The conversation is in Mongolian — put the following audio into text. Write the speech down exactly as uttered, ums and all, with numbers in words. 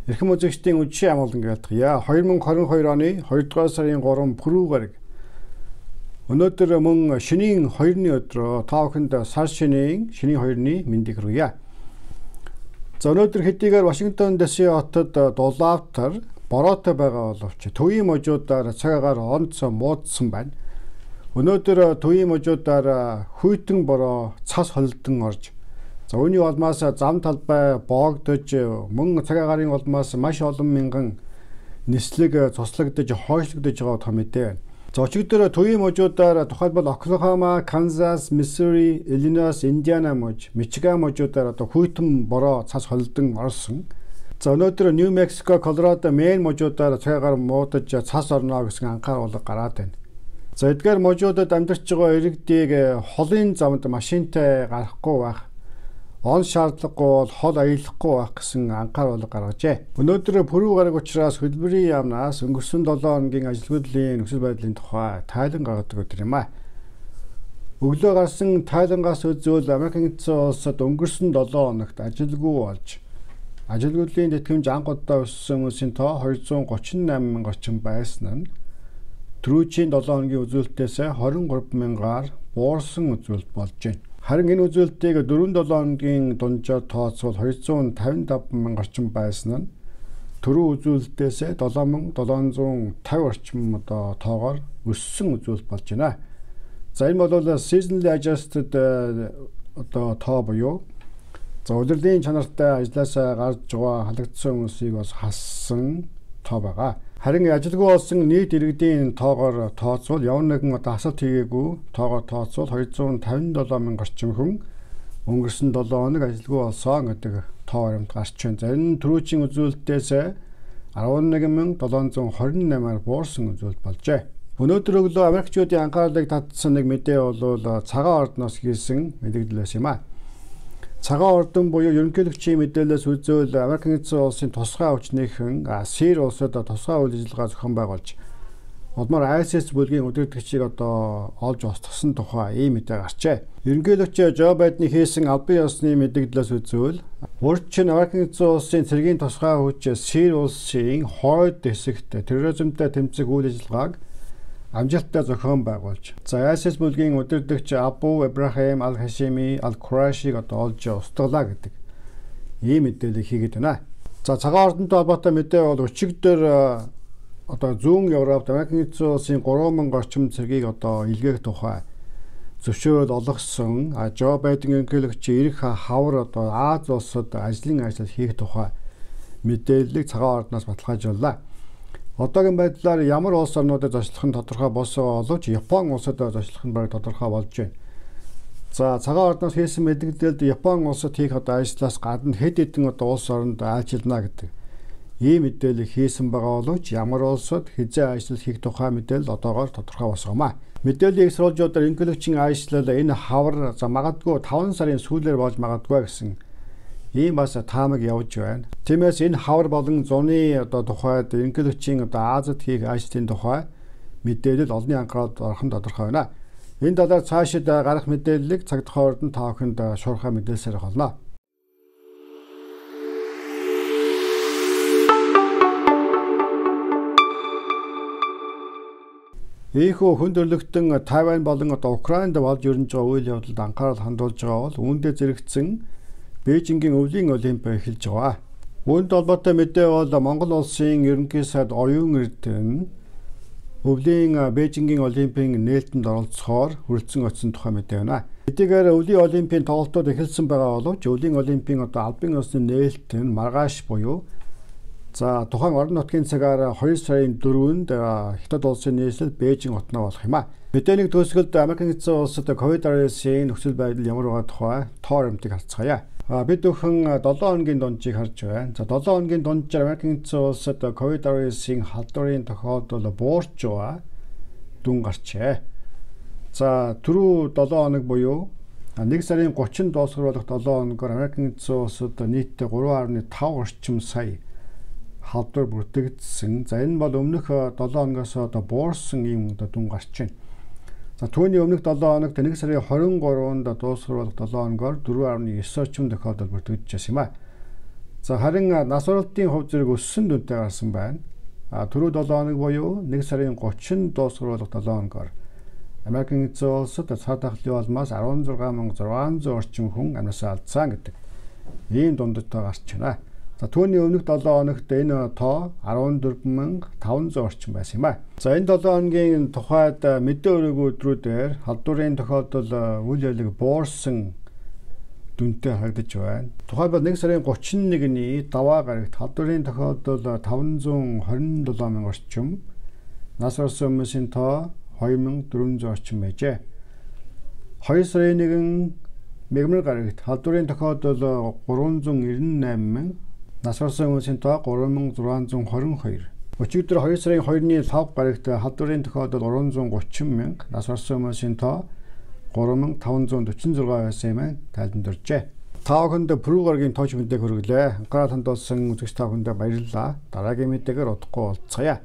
Эрхэм үзэгчдийн үдшийн амгалан гэлтгийа. two thousand twenty-two оны two-р сарын three пүрэв гараг. Өнөөдөр мөн шинийн хоёрны өдрөө та бүхэнд сар шинийн шинийн хоёрны мэндийг хүргье. За өнөөдөр хэдийгээр Вашингтон дэс хотод дулаавтар бороотой байгаа боловч төвийн можуудаар цагаагаар онцгой муудсан байна. Өнөөдөр төвийн можуудаар хүйтэн бороо цас холдон орж за үүний улмаас зам талбай боогдож мөн цагаагаарын улмаас маш олон мянган нислэг цуслагдж хойшлогдож байгаа том мэдээ. За өчигдөр төвийн можуудаар тухайлбал Оклахома, Канзас, Миссури, Иллинойс, Индиана мож, Мичиган можуудаар одоо хүйтэн бороо цас холдон орсон. За өнөөдөр Нью Мексико, Колорадо, Мэйн можуудаар цагаагаар муудаж цас орно гэсэн анхааруулга гараад байна. За эдгээр можуудад амьдарч байгаа иргэдийг холын замд машинтай гарахгүй байх, он шаардлагагүй бол хол аялахгүй байх гэсэн анхааруулга гаргажээ. Өнөөдөр пүрэв гараг учраас хөдөлмөрийн яамнаас өнгөрсөн seven хоногийн ажилгүйдлийн нөхцөл байдлын тухай тайлан гаргадаг өдөр юм а. Өглөө гарсан тайлангаас үзвэл Америкийн эзэн улсад өнгөрсөн seven хоногт ажилгүй болж ажилгүйдлийн тэтгэмж анх удаа өссөн хүмүүсийн тоо two hundred thirty-eight мянга орчим байсан нь түрүүчийн seven хоногийн үзүүлэлтээс twenty-three мянгаар буурсан үзүүлэлт болж байна. Харин энэ үзүүлэлтийг four seven хоногийн дунджаар тооцвол two hundred fifty-five мянга орчим байсан нь түрүү үзүүлэлтээс seven thousand seven hundred fifty орчим одоо тоогоор өссөн үзүүлэлт болж байна. За энэ бол seasonally adjusted одоо тоо буюу за удирдлагын чанартай ажилласаа гарч байгаа халагдсан хүмүүсийг бас хассан тоо байгаа. Харин ажилгүй болсон нийт иргэдийн тоогоор тооцвол явна нэгэн одоо асалт хийгээгүй тоогоор тооцвол two hundred fifty-seven мянга орчим хүн өнгөрсөн seven хоног ажилгүй болсон гэдэг тоо баримт гарч байна. За энэ түрүүчийн үзүүлэлтээс eleven thousand seven hundred twenty-eight-аар буурсан үзүүлэлт болжээ. Өнөөдөр өглөө Америкчуудын анхаарлыг татсан нэг мэдээ бол цагаан ордноос хийсэн мэдээлэл байсан юм а. Цагаан ордон буюу ерөнхийлөгчийн мэдээлэлээс үзвэл Америкийн эзэн улсын тусгай хүчнийхэн Сир улсад тусгай үйл ажиллагаа зохион байгуулж улмаар ай эс эс бүлгийн удирдагчийг одоо олж устгасан тухай ийм мэдээ гарчээ. Ерөнхийлөгч Жо Байдны хийсэн албан ёсны мэдээлэлээс үзвэл урд чинь Америкийн эзэн улсын цэргийн тусгай хүч Сир улсын хойд хэсэгт терроризмтай тэмцэх үйл ажиллагааг амжилттай зохион байгуулж за ай эс эс бүлгийн удирдагч Абу Ибрахим Ал-Хашими Ал-Курашиг одоо олж устгалаа гэдэг ийм мэдээлэл хийгээд байна. За цагаан ордонтой холбоотой мэдээ бол өчигдөр одоо зүүн Европт Америкийн эзэн улсын three thousand орчим цэргийг одоо илгээх тухай зөвшөөрөл олгосон. А Жо Байден ерөнхийлөгч ирэх хавар одоо Аз улсад ажлын ажил хийх тухай мэдээллийг цагаан ордноос баталгаажууллаа. Одоогийн байдлаар ямар улс орнуудад зочлох нь тодорхой болсон боловч Япон улсад зочлох нь баг тодорхой болж байна. За цагаан ордноос хийсэн мэдээлэлд Япон улсад хийх одоо ажлаас гадна хэд хэдэн одоо улс оронд айлчилна гэдэг ийм мэдээлэл хийсэн байгаа боловч ямар улсад хизээ ажил хийх тухай мэдээлэл одоогоор тодорхой босгоомаа. Мэдээллийг сурвалжуудаар ерөнхийлөгчийн ажил энэ хавар за магадгүй five сарын сүүлээр болж магадгүй гэсэн ийм бас таамаг явж байна. Тиймээс энэ хавар болон зуны одоо тухайд ерөнхийлөгчийн одоо Азад хийх ажлын тухай мэдээлэл олонний анхааралд орхон тодорхой байна. Энэ талаар цаашид гарах мэдээллийг цаг тохиолдолд нь та бүхэнд шуурхай мэдээлсээр холно. Ийхүү хүндрэлтэн Тайвань болон одоо Украинд болж өрнөж байгаа үйл явдалд анхаарал хандуулж байгаа бол үүндээ зэрэгцсэн Бээжингийн өвлийн олимп эхэлж байгаа. Үүнд холбоотой мэдээ бол Монгол улсын ерөнхий сайд Оюун Эрдэнэ өвлийн Бээжингийн олимпийн нээлтэнд оролцохоор хүрэлцэн очсон тухай мэдээ байна. Хэдийгээр өвлийн олимпийн тоглолтууд эхэлсэн байгаа боловч өвлийн олимпийн одоо албан ёсны нээлт нь маргааш буюу за тухайн орон нутгийн цагаар two сарын fourth-нд Хятад улсын нийслэл Бээжин хотноо болох юм а. Мэдээний төгсгөлд Америкийн эзэн улсад ковид-nineteen нөхцөл байдал ямар байгаа тухай тоо баримтыг харцгаая. Бид бүхэн seven хоногийн дунджийг харж байна. За seven хоногийн дунджаар Америкийн эзэн улсад ковид-nineteen халдварын тохиолдол буурч байгаа дүн гарчээ. За түрүү seven хоног буюу one сарын thirty дуусгаруулах seven хоногоор Америкийн эзэн улсад нийтдээ three point five орчим сая халдвар бүртгэгдсэн. За энэ бол өмнөх seven хоногоос одоо буурсан юм одоо дүн гарч байна. За түүний өмнөх seven хоногт one сарын twenty-third дуусгаруулах seven хоногоор four point nine орчим тохиолдол бүртгэгдэж байсан юм а. За харин нас баралтын хувь зэрэг өссөн дүнтэй гарсан байна. А түрүү долоо хоног буюу нэг сарын гучин дуусгаруулах долоо хоногоор Америкийн эзэн улсад цаад ахлын улмаас арван зургаан мянган зургаан зуун орчим хүн амьсаа алдсан гэдэг ийм дундадтай гарч байна. За түүний өмнөх долоо хоногт энэ тоо арван дөрвөн мянга таван зуун орчим байсан юм а. За энэ долоо хоногийн тухайд мэдээ өрөөг өдрүүдээр халдварын тохиолдол үйл явдлыг буурсан дүнтэй харагдаж байна. Тухайлбал нэг сарын гучин нэгний даваа гарагт халдварын тохиолдол таван зуун хорин долоо мянга орчим, нас барсан хүмүүсийн тоо хоёр мянган дөрвөн зуун орчим байжээ. хоёр сарын нэгэн мегмар гарагт халдварын тохиолдол гурван зуун нэрэн найман мянга, нас барсан хүмүүсийн тоо гурван мянган зургаан зуун хорин хоёр. Өчигдөр хоёр сарын хоёрны лав гарагт халдварын тохиолдол гурван зуун гучин мянга, нас барсан хүмүүсийн тоо гурван мянган таван зуун дөрвөн зургаан байсан юм тайлбарлажээ. Та бүхэнд Прүү гарагийн тооч мэдээг хүргэлээ. Анхаарал хандуулсан үзэгч та бүхэнд баярлалаа. Дараагийн мэдээгээр удахгүй уулзцаая.